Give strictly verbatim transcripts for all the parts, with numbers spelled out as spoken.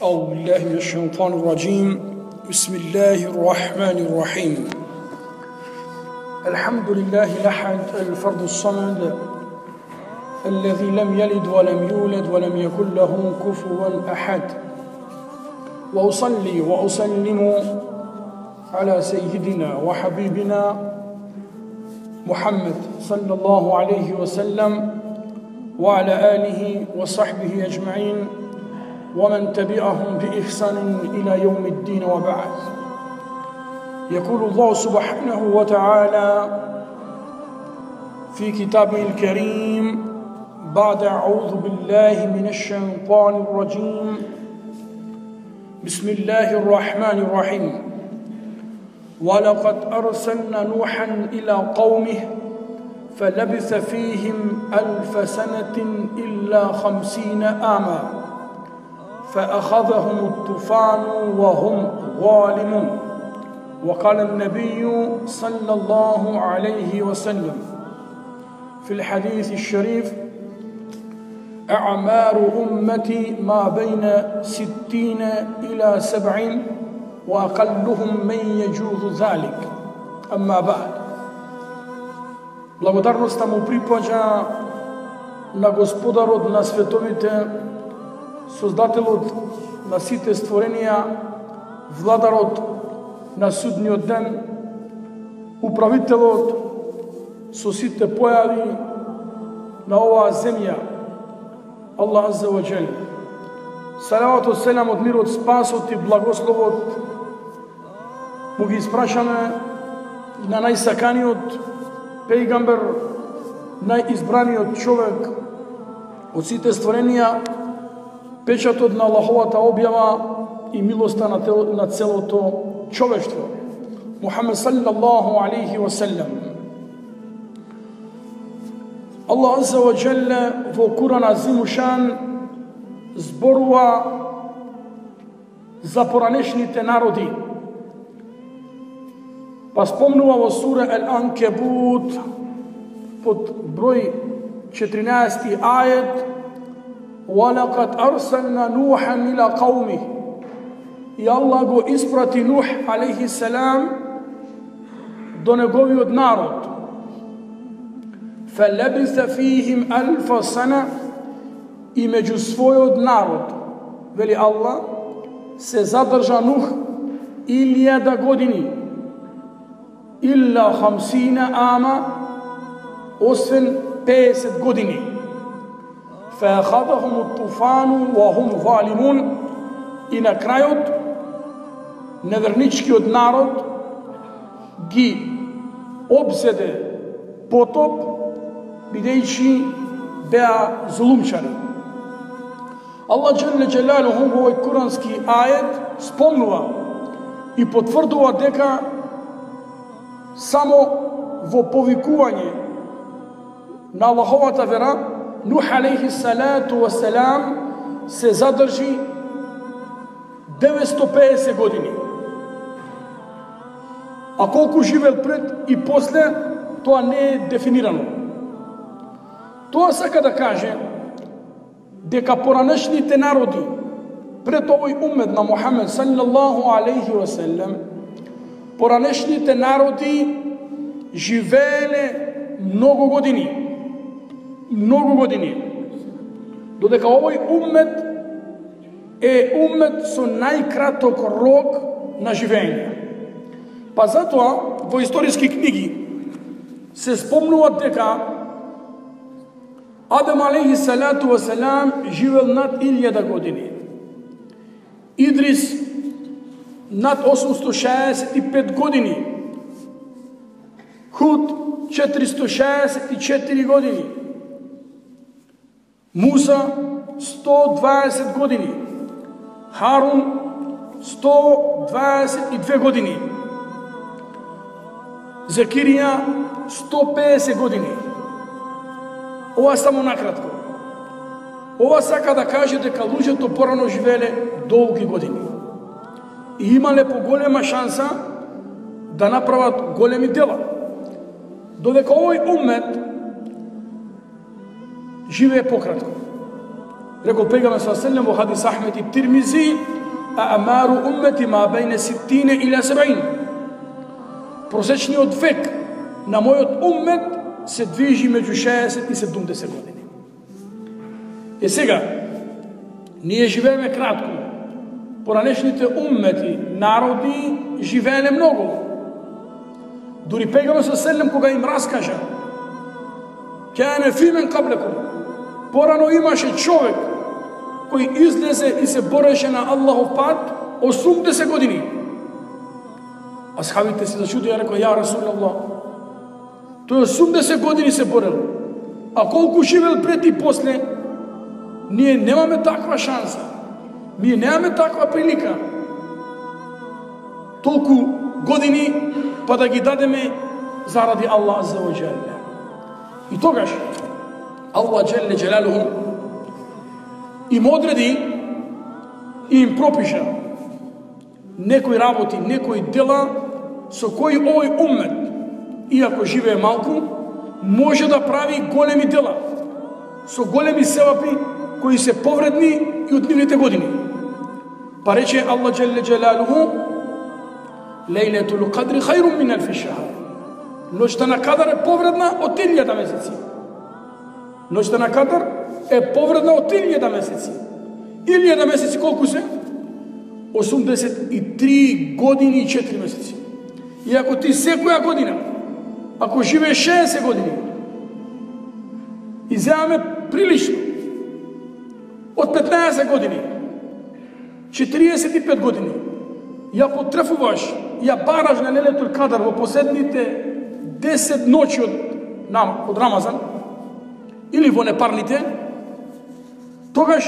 أعوذ بالله من الشيطان الرجيم بسم الله الرحمن الرحيم الحمد لله الأحد الفرد الصمد الذي لم يلد ولم يولد ولم يكن له كفوا أحد وأصلي وأسلم على سيدنا وحبيبنا محمد صلى الله عليه وسلم وعلى آله وصحبه أجمعين ومن تبعهم بإحسان إلى يوم الدين وبعد. يقول الله سبحانه وتعالى في كتابه الكريم بعد أعوذ بالله من الشيطان الرجيم بسم الله الرحمن الرحيم ولقد أرسلنا نوحا إلى قومه فلبث فيهم ألف سنة إلا خمسين عاما فأخذهم الطوفان وهم ظالمون. وقال النبي صلى الله عليه وسلم في الحديث الشريف أعمار أمتي ما بين ستين إلى سبعين وأقلهم من يجوز ذلك. أما بعد. Благодарноста му припаѓа на Господарот на световите, Создателот на сите створенија, Владарот на судниот ден, Управителот со сите појави на оваа земја, Аллах Азза ва Џел. Салаватот, селамот, мирот, спасот и благословот му ги испрашаме на најсаканиот пејгамбер, најизбраниот човек од сите створенија, печатот на Аллаховата објава и милоста на, тел, на целото човештво. Мухамед саллаллаху алейхи ва саллям. Аллах Азза ва Џелле во Куран Азимушан зборува за поранешните народи. Па спомнува во сура Ал-Анкебут под број четиринаесети ајет وَلَقَدْ أَرْسَلْنَا نُوحًا إِلَى قَوْمِهِ. И Аллах го испрати Нух алейхи селам до неговиот народ. فَلَبِثَ فِيهِمْ أَلْفَ سَنَةٍ. И меѓу својот народ, вели Аллах, се задржа Нух илјада години. Илла хамсина ама, освен пеесет години. فَأَخَذَهُمُ الطُّوفَانُ وَهُمْ ظَالِمُونَ. И на крајот неверничкиот народ ги обзеде потоп, бидејќи беа зулумчари. Аллах Џелле Џелалуху во овој курански ајет спомнува и потврдува дека само во повикување на Аллаховата вера Нух алейхи салату ва салам се задржи деветстотини и педесет години. А колку живел пред и после, тоа не е дефинирано. Тоа сака да каже дека поранешните народи пред овој умет на Мухамед саллаллаху алейхи ва саллам, поранешните народи живееле многу години. Многу години. Додека овој уммет е уммет со најкраток рок на живење. Па затоа во историски книги се спомнува дека Адам алейхи салату ва салам живел над илјада години. Идрис над осумстотини шеесет и пет години. Худ четиристотини шеесет и четири години. Муса сто дваесет години. Харун сто дваесет и две години. Закирија сто педесет години. Ова само накратко. Ова сака да каже дека луѓето порано живееле долги години и имале поголема шанса да направат големи дела. Додека овој уммет живее пократко. Рекол пегамбер саллаллаху алейхи ва саллем во хадис Ахмед и Тирмизи: "А'мару уммати ма бейна ситтина ила саб'ин." Просечниот век на мојот уммет се движи меѓу шеесет и седумдесет години. Е сега, ние живееме кратко. Поранешните уммети, народи, живееле многу. Дури пегамбер саллаллаху алейхи ва саллем кога им раскажа: "Кане фи мен каблекум." Порано имаше човек кој излезе и се бореше на Аллахов пат осумдесет години. Асхабите се зачудија, рекоа: "Ја Расулаллах, тој осумдесет години се борел, а колку живел пред и после, ние немаме таква шанса, ние немаме таква прилика, толку години па да ги дадеме заради Аллах азза ва џелле." И тогаш Аллах џелле џелалуху им одреди и им пропиша некои работи, некои дела со кои овој уммет, иако живее малку, може да прави големи дела, со големи севапи кои се повредни и од нивните години. Па рече Аллах џелле џелалуху: "Лейлетул кадри хајрун мин алфи шахр." Ноќта на Кадар е повредна од илјада месеци. Ноќта на Кадар е повредна од илјада месеци. илјада месеци колку се? осумдесет и три години и четири месеци. И ако ти секоја година, ако живееш шеесет години, и земаме прилично, од петнаесет години, четириесет и пет години, ја потрефуваш, ја бараш на Лейлетул Кадар во последните десет ноќи од, од Рамазан, или во непарните, тогаш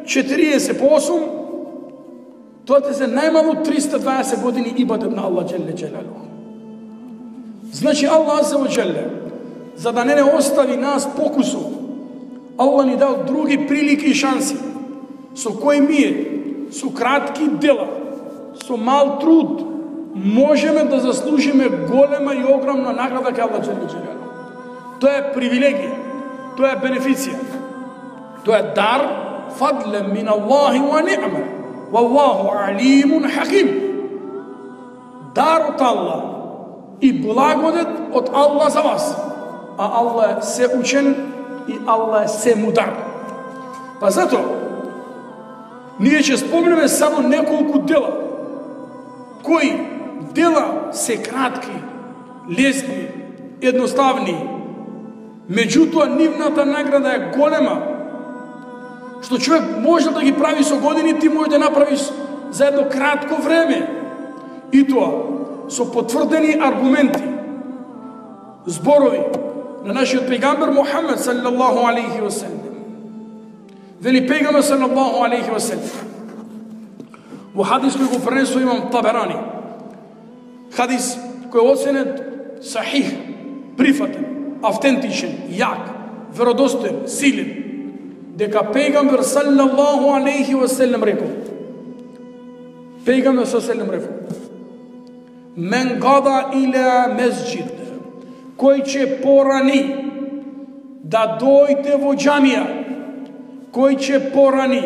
четириесет по осум, тоа те се најмалу триста дваесет години ибадет на Аллах џелле џелалуху. Значи Аллах азза ва џелле, за да не не остави нас покусу, Аллах ни дал други прилики и шанси, со кои ние, со кратки дела, со мал труд, можеме да заслужиме голема и огромна награда кај Аллах џелле џелалуху. Тоа е привилегија, тоа е бенефиција, тоа е дар, фадлен мин Аллахи ва ни'ма, валлаху алимун хаким. Дар од Аллах и благодет од Аллах за вас, а Аллах е се учен и Аллах е се мудар. Па зато ние ќе спомнеме само неколку дела, кои дела се кратки, лесни, едноставни, меѓутоа нивната награда е голема, што човек може да ги прави со години, ти може да направиш за едно кратко време, и тоа со потврдени аргументи, зборови на нашиот пегамбер Мухамед саллаллаху алейхи ва саллем. Вели пегамбер саллаллаху алейхи ва саллем во хадис кој го пренесува имам Таберани, хадис кој е оценет сахих, прифатен, автентичен, јак, веродостоен, силен, дека пегамбер саллаллаху алейхи ва саллем рекол, пегамбер саллаллаху алейхи ва саллем рекол: "Мен гада иля месџид", кој ќе порани да дојде во џамија, кој ќе порани,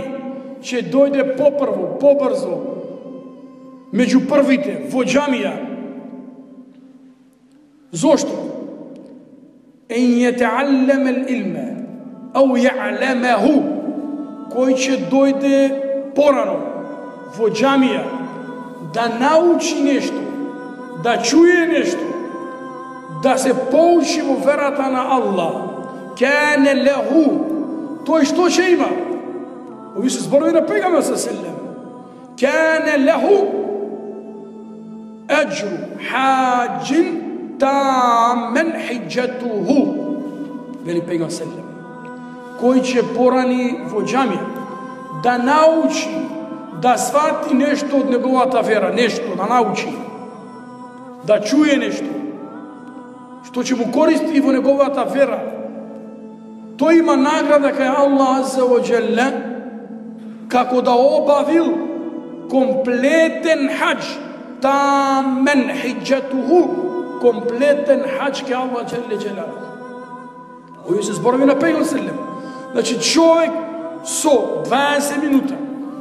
ќе дојде попрво, побрзо, меѓу првите во џамија. Зошто? "Ен јетеаллем ел илме, ау ја'лемеху", кој ќе дојде порано во џамија да научи нешто, да чуе нешто, да се поучи во верата на Аллах. "Кане леху", тој што ќе има? Ови се зборови на пегамбер саллаллаху алейхи ва саллем. "Кане леху аџру хаџин тамен хиџатуху", вели пегамбер саллаллаху алейхи ва саллем, кој ќе порани во џамија да научи, да свати нешто од неговата вера, нешто да научи, да чуе нешто што ќе му користи во неговата вера, тој има награда кај Аллах азза ва џелле, како да обавил комплетен хаџ, тамен хиџатуху, комплетен хаџ кај Аллах џелле џелалуху. Овие се зборови на пегамбер саллаллаху алейхи ва саллем. Значи човек со дваесет минута,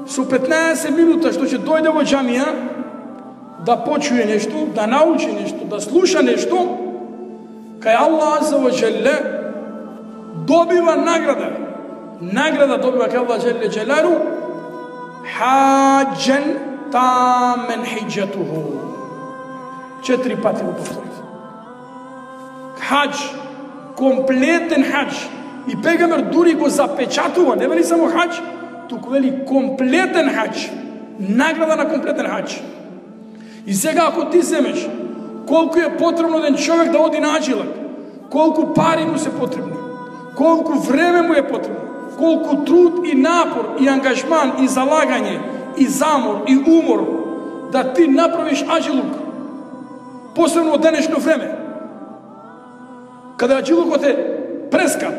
со петнаесет минута што ќе дојде во џамија да почуе нешто, да научи нешто, да слуша нешто, кај Аллах азза ва джелле добива награда. Награда добива кај Аллах джелле джелалу хаджен тамен хиджатуху. Четири пати го повторите. Хадж, комплетен хадж. И пегамер дури го запечатува, не вели само хадж, туку вели комплетен хадж. Награда на комплетен хадж. И сега ако ти земеш колку е потребно еден човек да оди на аджилак, колку пари му се потребни, колку време му е потребно, колку труд и напор и ангажман и залагање и замор и умор да ти направиш аджилук, посебно од денешно време, каде аджилукот е прескап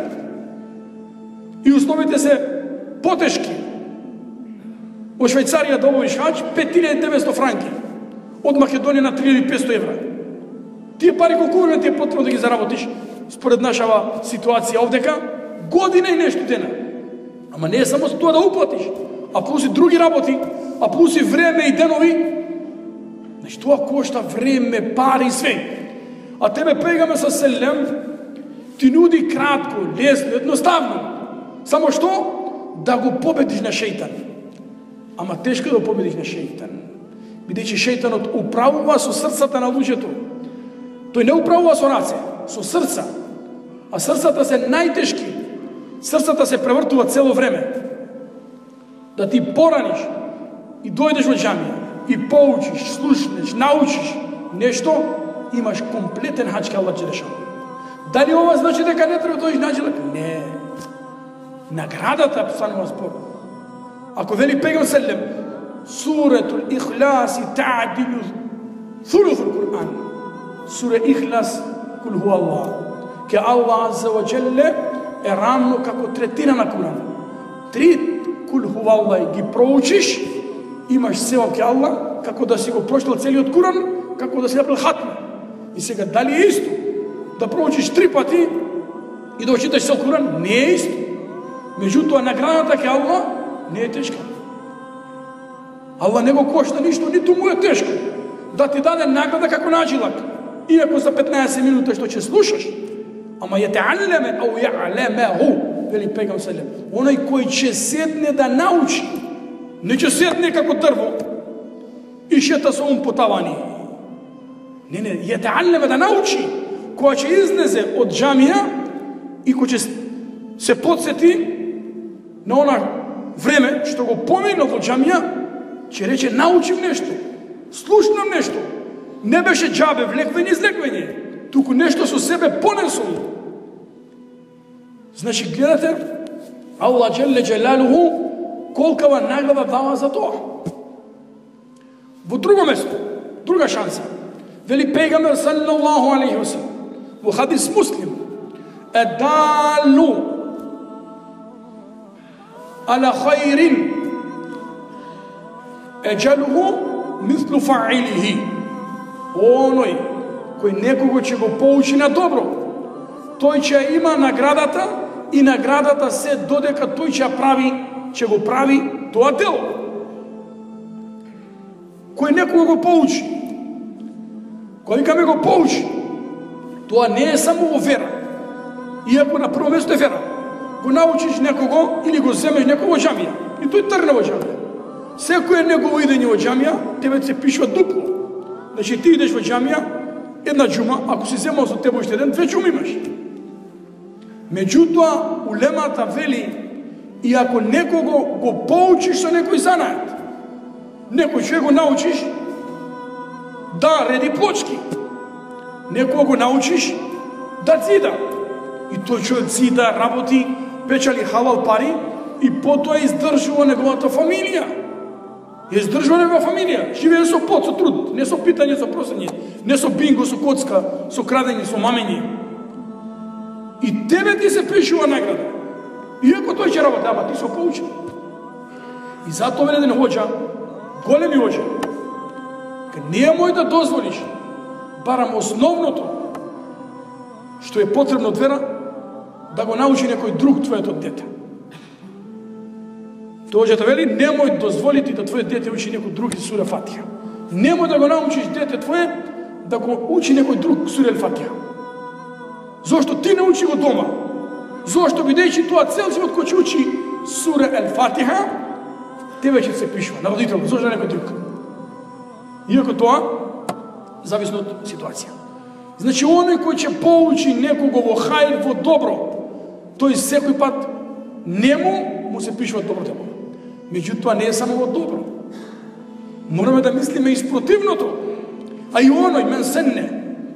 и условите се потешки. Во Швајцарија да обавиш хадж пет илјади и деветстотини франки, од Македонија на три илјади и петстотини евра. Тие пари колку време ти е потребно да ги заработиш според нашава ситуација овдека? Година и нешто дена. Ама не е само за тоа да уплатиш, а плюс и други работи, а плюс и време и денови. Значи тоа кошта време, пари и све. А тебе пегаме со селем, ти нуди кратко, лесно, едноставно. Само што? Да го победиш на шејтан. Ама тешко да победиш на шејтан. Бидејќи шејтанот управува со срцата на луѓето. Тој не управува со раце, со срца. А срцата се најтешки. Срцата се превртува цело време. Да ти пораниш и дојдеш во џамија и поучиш, слушнеш, научиш нешто, имаш комплетен хаџ кај Аллах џелешану. Дали ова значи дека не треба да дојдеш на аджилак? Не. Наградата станува збор. Ако вели пегам селем, Суретул Ихлас та'дилу thuluthul Qur'an. Сура Ихлас кул ху Аллах. Ке Аллах азза ва джелле е рамно како третина на Куран. Три кул ху Аллах ги проучиш, имаш севап ке Аллах, како да си го прочитал целиот Куран, како да си направил хатма. И сега дали е исто да проучиш три пати и да читаш цел Куран? Не е исто. Меѓутоа наградата ке Аллах не е тешка. Аллах не го кошта ништо, ниту му е тешко да ти даде награда како на аджилак. Иако за петнаесет минути што ќе слушаш, ама ја теаллеме ау ја'лемеху, вели пегам селем, оној кој ќе седне да научи, не ќе седне како дрво и шета со ум по тавани. Не, не, ја теаллеме да научи, која ќе изнезе од џамија и кој ќе се подсети на она време што го поминал во џамија, ќе рече научив нешто, слушнам нешто. Не беше џабе влеквење и излеквење, туку нешто со себе понесол. Значи, гледате, Аллах джелле джелалуху колкава награда дава за тоа. Во друго место, друга шанса, вели пегамбер саллаллаху алейхи ва саллем во хадис Муслим, едалу ала хајрин еджалуху мислу фаилихи. Оној кој некого ќе го поучи на добро, тој ќе има наградата и наградата се додека тој ќе прави, ќе го прави тоа дело. Кој некого го поучи, кој ка ме го поучи, тоа не е само во вера. Иако на прво место е вера. Го научиш некого или го земеш некого во џамија и тој тргне во џамија. Секој негово идење во џамија, тебе се пишува дупло. Значи ти идеш во џамија, една џума, ако си земал со тебе уште еден, две џуми имаш. Меѓутоа, улемата вели, и ако некого го поучиш со некој занаат, некој човек го научиш да реди плочки, некој го научиш да цида, и тој човек цида, работи, печали халал пари, и потоа издржува неговата фамилија. Ја издржува негова фамилија, живее со пот, со труд, не со питање, со просење, не со бинго, со коцка, со крадење, со мамење. И тебе ти се пишува награда. Иако тој ќе работи, ама ти се поучи. И затоа вели еден хоџа, големи хоџа, не мој да дозволиш, барам основното, што е потребно од вера, да го научи некој друг твоето дете. Тојот вели, немој дозволити да твое дете учи некој друг сура Фатиха. Немој да го научиш дете твое да го учи некој друг сура Фатиха. Зошто ти не учи го дома? Зошто бидејќи тоа цел живот кој ќе учи сура Фатиха, тебе ќе се пишува на родител, зошто некој друг. Иако тоа зависи од ситуација. Значи, оној кој ќе поучи некого во хајр, во добро, тој секој пат нему му се пишува добро дело. Меѓутоа не е само во добро. Мораме да мислиме и спротивното. А и оној мен сенне,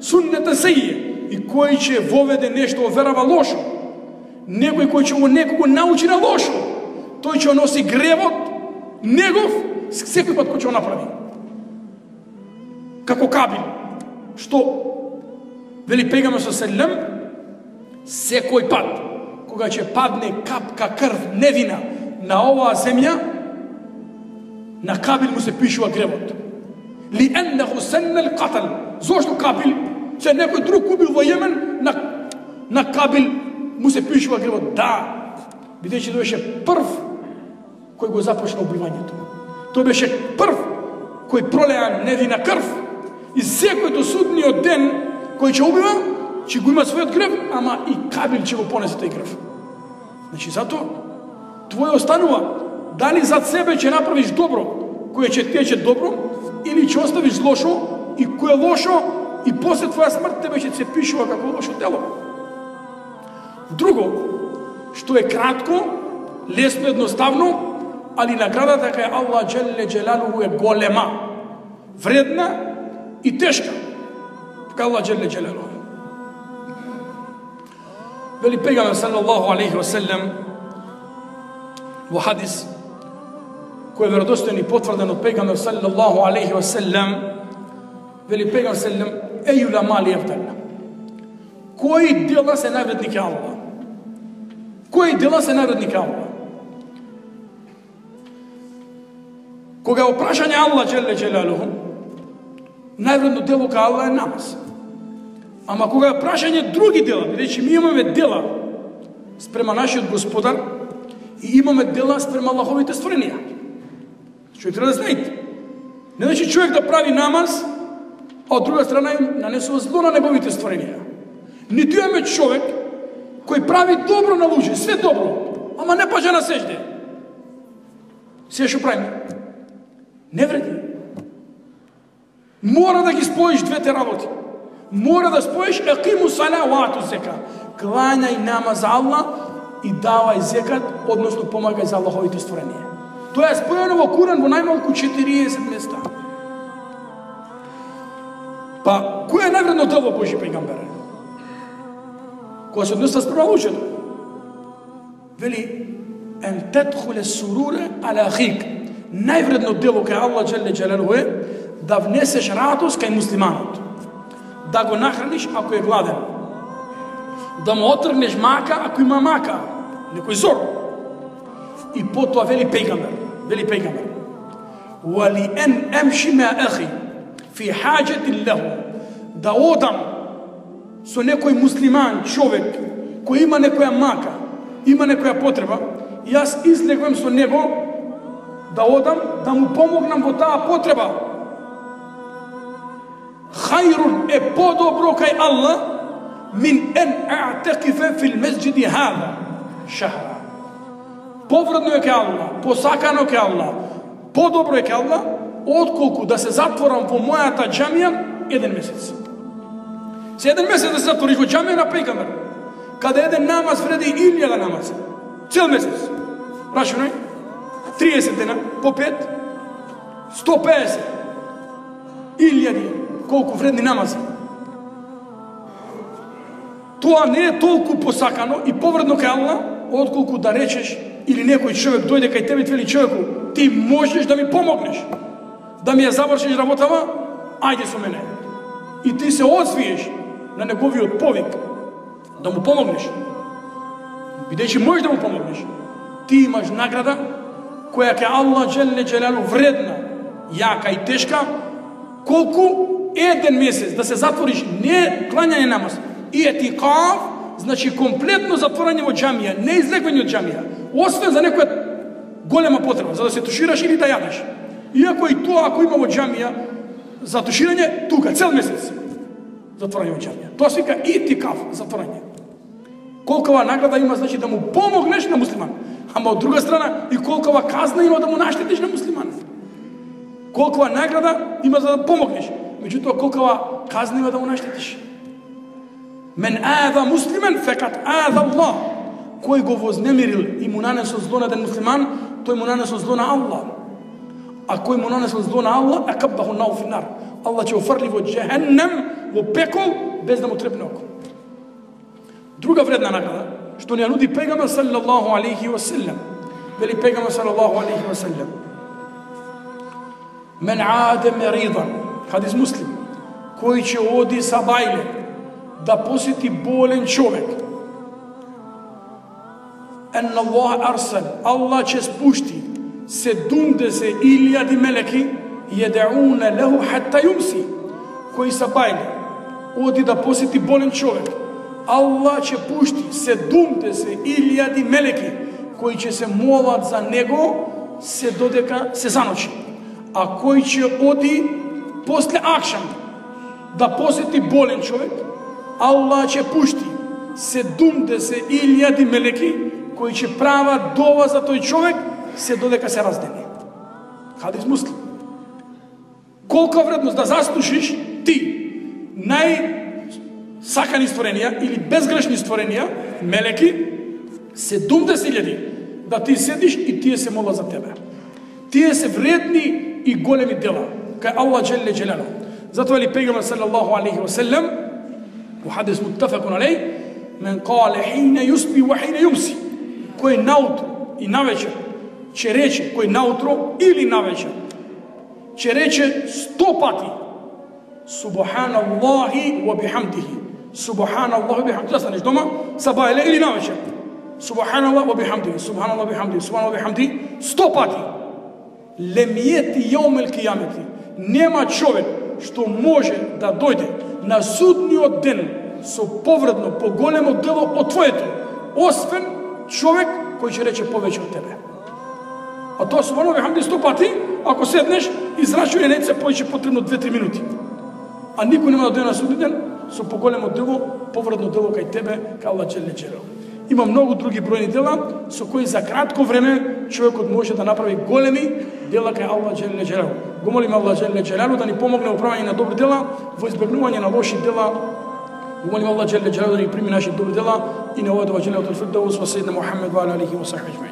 суннета сеје, и кој ќе воведе нешто верава лошо, некој кој ќе го некого научи на лошо, тој ќе носи гревот негов секој пат кој ќе го направи. Како Кабил, што вели пегаме со селем, секој пат кога ќе падне капка крв невина на оваа земја, на Кабил му се пишува гревот. Ли еннеху сеннел катал. Зошто Кабил? Се некој друг убил во Јемен, на, на Кабил му се пишува гревот. Да, бидејќи тој беше прв кој го започна убивањето. Тој беше прв кој пролеа невина крв и секој до судниот ден кој ќе убива, ќе го има својот грев, ама и Кабил ќе го понесе тој грев. Значи, затоа твој останува дали зад себе ќе направиш добро, кое ќе тече добро, или ќе оставиш лошо, и кое лошо, и после твоја смрт тебе ќе се пишува како лошо дело. Друго, што е кратко, лесно, едноставно, али наградата кај Аллах Джелле Джелалуху е голема, вредна и тешка. Кај Аллах Джелле Джелалуху. Вели пегамбер салаллаху алейхи ва селем во хадис кој е веродостоен и потврден од пегамбер салаллаху алейхи ва селем, вели пегамбер селем ејула мали ефтална. Кои дела се највредни кај Аллах? Кои дела се највредни кај Аллах? Кога е опрашање Аллах Джелле Джелалуху, највредно дело кај Аллах е намаз. Ама кога е прашање други дела, бидејќи ми имаме дела спрема нашиот Господар и имаме дела спрема Аллаховите створенија. Човек треба да знаете. Не значи човек да прави намаз, а од друга страна им нанесува зло на неговите створенија. Ниту имаме човек кој прави добро на луѓе, све добро, ама не паѓа на сежде. Се што правиме? Не вреди. Мора да ги споиш двете работи. Мора да споиш екиму сала ва ату зека. Клањај намаз за Аллах и давај зекат, односно помагај за Аллаховите створенија. Тоа е споено во Куран во најмалку четириесет места. Па, кој е највредно дело Божи пејгамбере? Која се однесува спрема луѓето? Вели, ен тедхуле суруре аля ахик. Највредно дело кај Аллах Джелле Джелалуху е да внесеш радост кај муслиманот. Да го нахраниш ако е гладен. Да му отргнеш мака ако има мака. Некој зор. И потоа вели пејгамбер. Вели пејгамбер. Вали ен емши ме ахи фи хаджетин леху. Да одам со некој муслиман, човек, кој има некоја мака, има некоја потреба, и јас излегувам со него да одам, да му помогнам во таа потреба. Хајрун е подобро кај Аллах мин ен а'текифе фил месџиди хада шахра. Повредно е кај Аллах, посакано кај Аллах, подобро е кај Аллах, отколку да се затворам во мојата џамија еден месец. Се еден месец да се затвориш во џамија на пејгамбер, каде еден намаз вреди илјада намаз. Цел месец. Рашунај, триесет дена, по пет, сто педесет, илјади, колку вредни намази. Тоа не е толку посакано и повредно кај Аллах, отколку да речеш или некој човек дојде кај тебе и вели човеку, ти можеш да ми помогнеш, да ми ја завршиш работава, ајде со мене. И ти се освиеш на неговиот повик да му помогнеш. Бидејќи можеш да му помогнеш, ти имаш награда која ке Аллах Джелле Джелалу вредна, јака и тешка, колку еден месец да се затвориш, не клањање намаз, и етикаф, значи комплетно затворање во џамија, не излегување од џамија, освен за некоја голема потреба за да се тушираш или да јадеш. Иако и тоа ако има во џамија за туширање, тука цел месец затворање во џамија. Тоа се вика итикаф, затворање. Колкова награда има, значи да му помогнеш на муслиман. Ама од друга страна и колкова казна има да му наштетиш на муслиман. Колкова награда има за да помогнеш, меѓутоа колкова казна има да му наштетиш. Мен аъза муслиман фекат аъза Аллах. Кој го вознемирил и му нанесол зло на еден муслиман, тој му нанесол зло на Аллах. А кој му нанесол зло на Аллах, акаббаху нау фи нар. Аллах ќе офрли во џехеннем, во пекол, без да му трепне око. Друга вредна награда, што ни ја нуди пегамбер салаллаху алейхи ва селем. Вели пегамбер салаллаху алейхи ва селем: Мен аде меридан, хадис муслим, кој ќе оди са бајле да посети болен човек. Ен Аллах арсел, Аллах ќе спушти седумдесет илјади мелеки једеуне леху хатта јумси. Кој са бајле оди да посети болен човек, Аллах ќе пушти седумдесет илјади мелеки кои ќе се молат за него се додека се заночи. А кој ќе оди после акшам да посети болен човек, Аллах ќе пушти седумдесет илјади мелеки кои ќе прават дова за тој човек се додека се раздени. Хадис муслим. Колка вредност да заслушиш ти нај сакани створенија или безгрешни створенија, мелеки, седумдесет илјади, да ти седиш и тие се молат за тебе. Тие се вредни и големи дела, кај Аллах джелле джелалу. Затоа ли пегамбер салаллаху алейхи ва селем, во хадис муттафакун алейх, мен кале хине юсби ва хине јумси, кој наутро и навечер ќе рече, кој наутро или навечер ќе рече сто пати Субханаллахи ва бихамдихи. Субханаллахи ва бихамдихи. Застанеш дома, сабајле или навечер. Субханаллах ва бихамдихи. Субханаллах ва бихамдихи. Субханаллах ва бихамдихи. сто пати. Лем јети јаумел кијамети. Нема човек што може да дојде на судниот ден со повредно, поголемо дело од твоето, освен човек кој ќе рече повеќе од тебе. А тоа субханаллах ва бихамдихи сто пати, ако седнеш, израчуј не се повеќе потребно две-три минути. А никој нема да дојде на судниот ден со поголемо дело, повредно дело кај тебе, кај Аллах джелле джелалу. Има многу други бројни дела со кои за кратко време човекот може да направи големи дела кај Аллах джелле джелалу. Го молиме Аллах джелле джелалу да ни помогне во правење на добри дела, во избегнување на лоши дела. Го молиме Аллах джелле джелалу да ни прими наши добри дела и на овој дженнатул фирдаус во сајидна Мухаммед ва алейхи ва сахбихи.